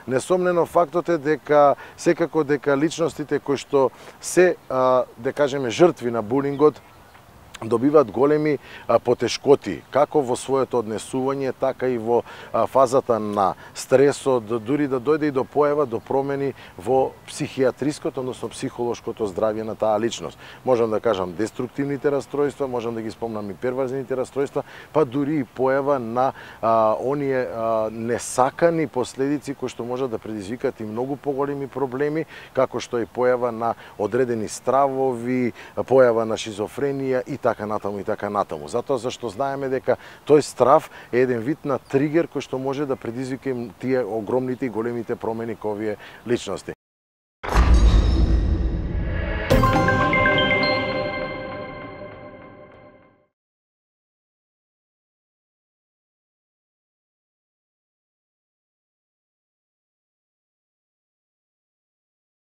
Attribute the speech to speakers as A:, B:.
A: Несомнено фактот е дека секако дека личностите кои што се да кажеме жртви на булингот добиваат големи потешкоти, како во своето однесување, така и во фазата на стресот, дури да дојде и до појава, до промени во психијатриското, односно психолошкото здравје на таа личност. Можам да кажам деструктивните растројства, можам да ги спомнам и первазните растројства, па дури и појава на оние несакани последици кои што можат да предизвикаат и многу поголеми проблеми, како што е појава на одредени стравови, појава на шизофренија и така натаму. Затоа зашто знаеме дека тој страв е еден вид на тригер кој што може да предизвика тие огромните и големите промени кои овие личности.